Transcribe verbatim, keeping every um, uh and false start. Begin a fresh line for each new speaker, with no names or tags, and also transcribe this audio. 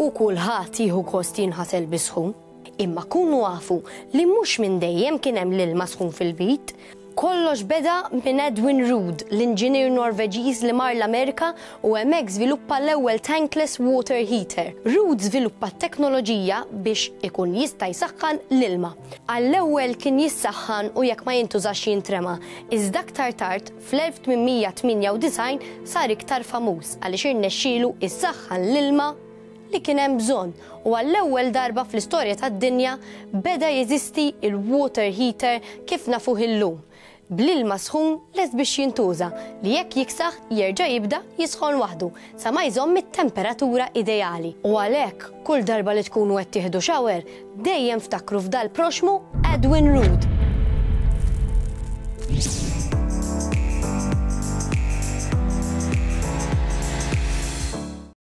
U kulħadd jieħu gost jinħasel bis-sħun. Imma kunu afu li mhux minn dejjem kien hemm l-ilma sħun fil-bit. Kollox beda minn Edwin Ruud, l-inġinier Norveġiż li mar l-Amerika u hemmhekk żviluppa l-ewwel tankless water heater. Ruud żviluppa teknoloġija biex ikun jista' jsaħħan l-ilma. Għall-ewwel kien jissaħħan u jekk ma jintużax jintrema. Iżda aktar tard fl-elf tmien mija tmienja u disgħin sar iktar famuż għaliex irnexxielu issaħħan l-ilma li kien hemm bżonn u għall-ewwel darba fl-istorja tad-dinja beda jeżisti il-water heater kif nafuh illum, bl-ilma sħun lest biex jintuża, li jekk jiksaħ jerġa' jibda jisħon waħdu sa ma jżomm it-temperatura ideali. U għalhekk kull darba li tkunu qed tieħdu shower, dejjem ftakru f'dal proxmu Edwin Ruud.